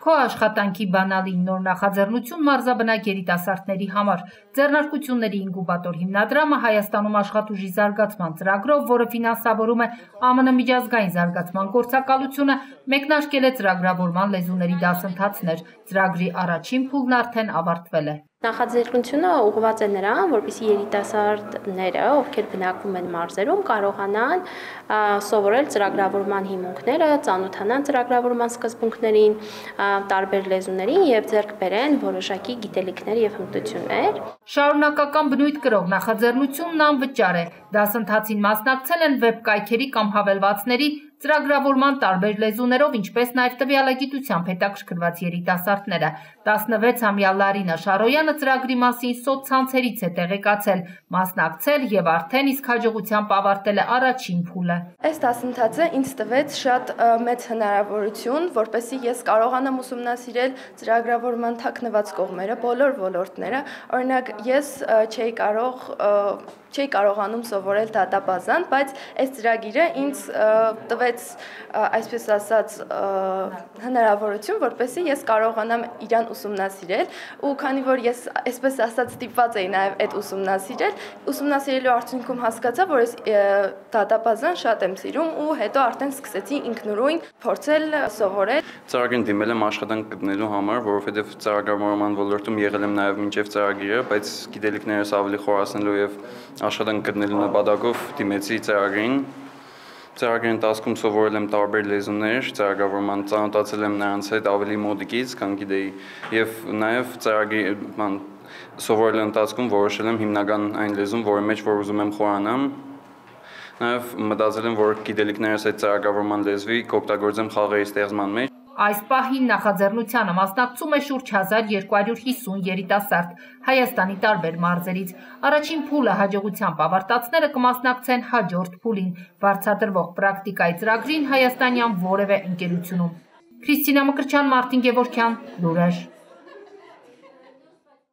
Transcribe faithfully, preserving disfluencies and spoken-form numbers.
Քո աշխատանքի բանալին նոր նախաձեռնություն մարզաբնակ երիտասարդների համար։ Ձեռնարկությունների ինկուբատոր հիմնադրամը Հայաստանում աշխատուժի զարգացման ծրագրով, որը ֆինանսավորում է Ա Մ Ն միջազգային զարգացման գործակալությունը, մեկնարկել է ծրագրավորման լեզուների դասընթացներ։ Ծրագրի առաջին փուլն արդեն ավարտվել է։ Նախաձեռնությունը ուղղված է նրան, որպեսզի երիտասարդները, ովքեր բնակվում են մարզերում, կարողանան սովորել ծրագրավորման հիմունքները, ծանոթանան ծրագրավորման սկզբունքներին, տարբեր լեզուներին եւ ձեռք բերեն որոշակի գիտելիքներ եւ հմտություններ։ Շարունակական բնույթ կրող նախաձեռնությունն անվճար է։ Դասընթացին մասնակցել են վեբ կայքերի կամ հավելվածների ծրագրավորման տարբեր լեզուներով, ինչպես նաև տվյալագիտությամբ հետաքրքրված երիտասարդները։ տասնվեցամյա Լարինա Շարոյանը ծրագրի մասին սոցցանցերից է տեղեկացել, մասնակցել եւ արդեն իսկ հաջողությամբ ավարտել է առաջին փուլը։ Այս դասընթացը ինձ տվեց շատ մեծ հնարավորություն, որպեսզի ես կարողանամ ուսումնասիրել ծրագրավորման թաքնված կողմերը, բոլոր ոլորտները։ Օրինակ, ես չէի կարող չէի կարողանում սովորել դատաբազան, բայց այս ծրագիրը ինձ տվեց, այսպես ասած, հնարավորություն, որպեսզի ես կարողանամ իրան ուսումնասիրել, ու քանի որ ես այսպես ասած ստիպված էի նաև այդ ուսումնասիրել, ուսումնասիրելու արդյունքում հասկացա, որ ես դատաբազան շատ եմ սիրում, ու հետո արդեն սկսեցի ինքնուրույն փորձել սովորել։ Ծրագրին դիմել եմ աշխատանք գտնելու համար, որովհետև ծրագրավորման ոլորտում եղել եմ նաև մինչև ծրագիրը, բայց գիտելիքներս ավելի խորացնելու եւ աշխատանք գտնելու նպատակով դիմեցի ծրագրին։ Ծրագրի ընթացքում սովորել եմ տարբեր լեզուներ, ծրագրավորման ծանոթացել եմ նրանց հետ ավելի մոտիկից, քան գիտեի, եւ նաեւ ծրագրի սովորելու ընթացքում որոշել եմ հիմնական այն լեզուն, որի մեջ որ ուզում եմ խորանամ։ Նաեւ մտածել եմ, որ գիտելիքներս այդ ծրագրավորման լեզվի կօգտագործեմ խաղերի ստեղծման մեջ։ Այս պահին նախաձեռնությանը մասնակցում է շուրջ հազար երկու հարյուր հիսուն երիտասարդ Հայաստանի տարբեր մարզերից։ Առաջին փուլը հաջողությամբ ավարտածները կմասնակցեն հաջորդ փուլին, վարձատրվող պրակտիկայի ծրագրին հայաստանյան որևէ ընկերությունում։ Քրիստինա Մկրտչյան, Մարտին Գևորգյան, Լուրեր։